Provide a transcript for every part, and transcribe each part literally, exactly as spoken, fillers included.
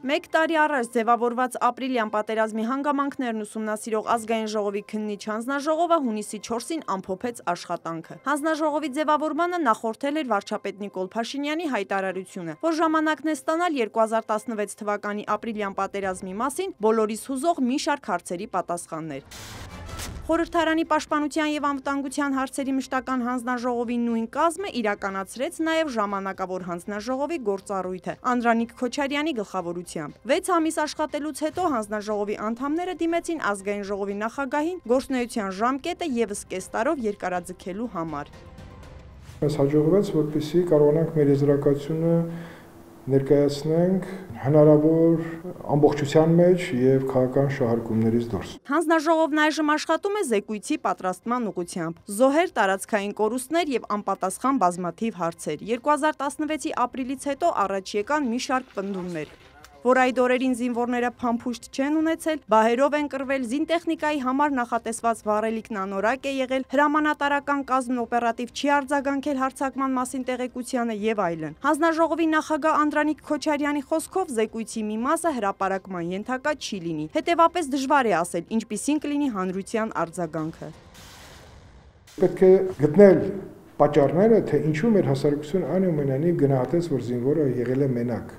Մեկ տարի առաջ ձևավորված ապրիլյան պատերազմի հանգամանքներն ուսումնասիրող ազգային ժողովի քննիչ հանձնաժողովը հունիսի չորսին ամփոփեց աշխատանքը։ Հանձնաժողովի ձևավորմանը նախորդել էր վարչապետ Նիկոլ Փաշինյանի հայտարարությունը, որ ժամանակն է ստանալ երկու հազար տասնվեց թվականի ապրիլյան պատերազմի մասին բոլորիս հուզող մի շարք հարցերի պատասխաններ։ Խորհրդարանի պաշտպանության և անվտանգության հարցերի մշտական հանձնաժողովի նույն կազմը իրականացրեց նաև ժամանակավոր հանձնաժողովի գործառույթը Անդրանիկ Քոչարյանի գլխավորությամբ։ Վեց ամիս աշխատելուց հետո հանձնաժողովի անդամները դիմեցին ազգային ժողովի նախագահին գործունեության ժամկետը ևս կես տարով երկարաձգելու համար։ Մեզ հաջողվեց, որպեսզի կարողանանք մեր եզրակացությունը ներկայացնենք հնարավոր ամբողջության մեջ և քաղաքական շահարկումներից դուրս։ Հանձնաժողովն այժմ աշխատում է զեկույցի պատրաստման ուղղությամբ։ Զոհեր, տարածքային կորուստներ և անպատասխան բազմաթիվ հարցեր։ երկու հազար տասնվեցի ապրիլից հետո առաջ եկան մի շարք պնդումներ, որ այդ օրերին զինվորները փամփուշտ չեն ունեցել, բահերով են կռվել, զինտեխնիկայի համար նախատեսված վառելիքն անորակ է եղել, հրամանատարական կազմն օպերատիվ չի արձագանքել հարձակման մասին տեղեկությանը և այլն։ Հանձնաժողովի նախագահ Անդրանիկ Քոչարյանի խոսքով զեկույցի մի մասը հրապարակման ենթակա չի լինի, հետևապես դժվար է ասել, ինչպիսին կլինի հանրության արձագանքը։ Պետք է գտնել պատճառները, թե ինչու մեր հասարակությունը այնուամենայնիվ գնահատեց, որ զինվորը եղել է մենակ։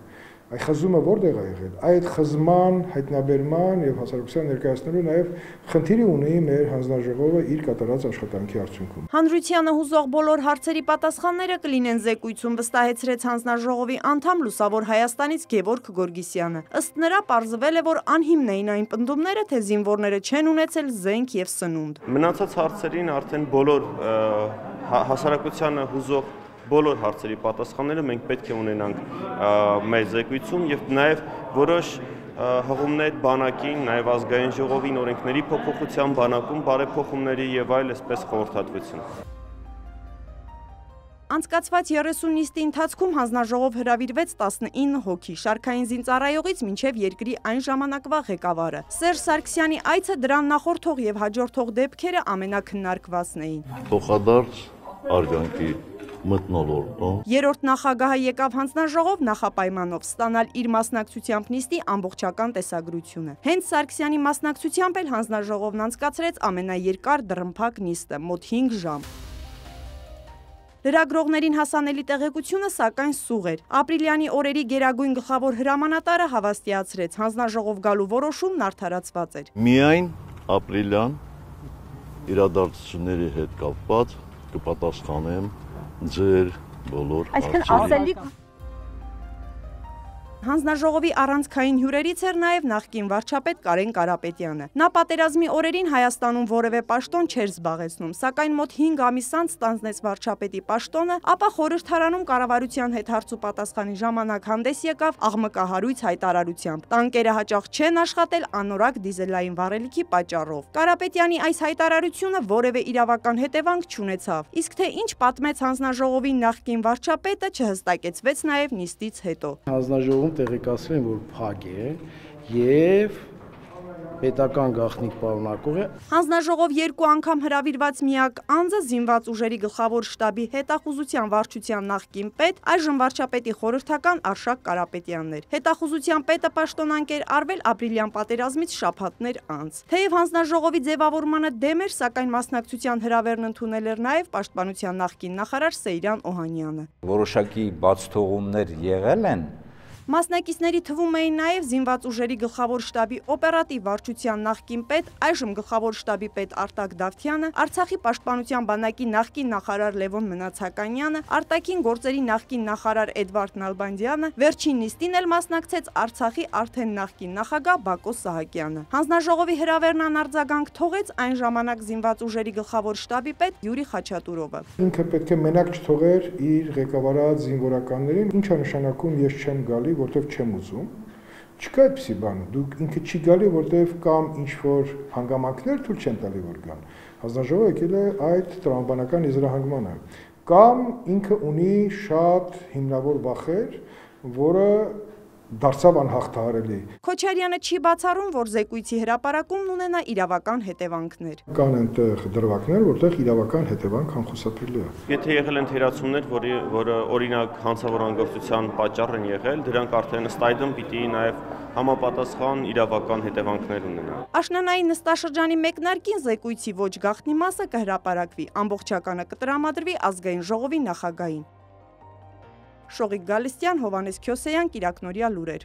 Այդ խզումը որտեղ է եղել։ Այդ խզման, հայտնաբերման և հասարակության ներկայացնելու նաև խնդիրը ունի մեր հանձնաժողովը իր կատարած աշխատանքի արդյունքում։ Հանրությանը հուզող բոլոր հարցերի պատասխանները կլինեն զեկույցում, վստահեցրեց հանձնաժողովի անդամ Լուսավոր Հայաստանից Գևորգ Գորգիսյանը։ Ըստ նրա պարզվել է, որ անհիմն էին այն պնդումները, թե զինվորները չեն ունեցել զենք և սնունդ։ Մնացած հարցերին արդեն բոլոր հասարակությանը հուզող բոլոր հարցերի պատասխանները մենք պետք է ունենանք մեր զեկույցում և նաև որոշ հղումներ բանակին, նաև ազգային ժողովին, օրենքների փոփոխության բանակում, բարեփոխումների և այլ այսպես խորհրդատվություն։ Անցկացված երեսուն նիստի ընթացքում հանձնաժողով հրավիրվեց տասնինը հոգի, շարքային զինծառայողից մինչև երկրի այն ժամանակվա ղեկավարը։ Սերժ Սարգսյանի այցը դրան նախորդող և հաջորդող դեպքերը ամենաքննարկվածն էին։ Փոխադարձ արգանքի մթնոլորտում Երրորդ նախագահը եկավ հանձնաժողով նախապայմանով ստանալ իր մասնակցությամբ նիստի ամբողջական տեսագրությունը։ Հենց Սարգսյանի մասնակցությամբ էլ հանձնաժողովն անցկացրեց ամենաերկար դռնփակ նիստը՝ մոտ հինգ ժամ։ Լրագրողներին հասանելի տեղեկությունը սակայն սուղ էր։ Ապրիլյանի օրերի գերագույն գլխավոր հրամանատարը հավաստիացրեց, հանձնաժողով գալու որոշումն արդարացված էր։ Միայն ապրիլյան իրադարձությունների հետ կապված կպատասխանեմ ձեր բոլոր հարցերին։ Հանձնաժողովի առանցքային հյուրերից էր նաև նախկին վարչապետ Կարեն Կարապետյանը։ Նա պատերազմի օրերին Հայաստանում որևէ պաշտոն չէր զբաղեցնում, սակայն մոտ հինգ ամիս անց ստանձնեց վարչապետի պաշտոնը, ապա խորհրդարանում կառավարության հետ հարց ու պատասխանի ժամանակ հանդես եկավ աղմկահարույց հայտարարությամբ։ Տանկերը հաճախ չեն աշխատել անորակ դիզելային վառելիքի պատճառով։ Կարապետյանի այս հայտարարությունը որևէ իրավական հետևանք չունեցավ, իսկ թե ինչ պատմեց հանձնաժողովի նախկին վարչապետը չհստակեցվեց նաև նիստից հետո։ Հանձնաժողովում տեղեկացրել են, որ փակ է և պետական գաղտնիք պարունակող է։ Հանձնաժողով երկու անգամ հրավիրված միակ անձը զինված ուժերի գլխավոր շտաբի հետախուզության վարչության նախկին պետ, այժմ վարչապետի խորհրդական Արշակ Կարապետյանն էր։ Հետախուզության պետը պաշտոնանկ էր արվել ապրիլյան պատերազմից շաբաթներ անց։ Թեև հանձնաժողովի ձևավորմանը դեմ էր, սակայն մասնակցության հրավերն ընդունել էր նաև պաշտպանության նախկին նախարար Սեյրան Օհանյանը։ Որոշակի բացթողումներ եղել են։ Մասնակիցների թվում էին նաև զինված ուժերի գլխավոր շտաբի օպերատիվ վարչության նախկին պետ, այժմ գլխավոր շտաբի պետ Արտակ Դավթյանը, Արցախի պաշտպանության բանակի նախկին նախարար Լևոն Մնացականյանը, արտաքին գործերի նախկին նախարար Էդվարդ Նալբանդյանը, վերջին նիստին էլ մասնակցեց Արցախի արդեն նախկին նախագահ Բակո Սահակյանը։ Հանձնաժողովի հրավերն անարձագանք թողեց այն ժամանակ զինված ուժերի գլխավոր շտաբի պետ Յուրի Խաչատուրովը։ Ինքը պետք է մենակ չթողեր իր ղեկավարած զինվորականներին, ինչա նշանակում ես չեմ գալի, որտեվ չեմ ուզում, չկա այդպիսի բան, դուք ինքը չի գալի, որտեվ կամ ինչ-որ հանգամանքներ թույլ չեն տալի, որ գան։ Հանձնաժողովը եկել է այդ տրամաբանական եզրահանգմանը, կամ ինքը ունի շատ հիմնավոր վախեր, որը դարձավ անհաղթահարելի։ Քոչարյանը չի բացառում, որ զեկույցի հրապարակումն ունենա իրավական հետևանքներ։ Կան այնտեղ դրվագներ, որտեղ իրավական հետևանք անխուսափելի է։ Եթե եղել են թերացումներ, որը որը օրինակ հանցավոր անգործության պատճառ են եղել, դրանք արդեն ըստ այդմ պիտի նաև համապատասխան իրավական հետևանքներ ունենան։ Աշնանային նստաշրջանի մեկնարկին զեկույցի ոչ գաղտնի մասը կհրապարակվի, ամբողջականը կտրամադրվի ազգային ժողովի նախագահին։ Շողիկ Գալստյան, Հովանես Քյոսեյան, Կիրակնորյա լուրեր։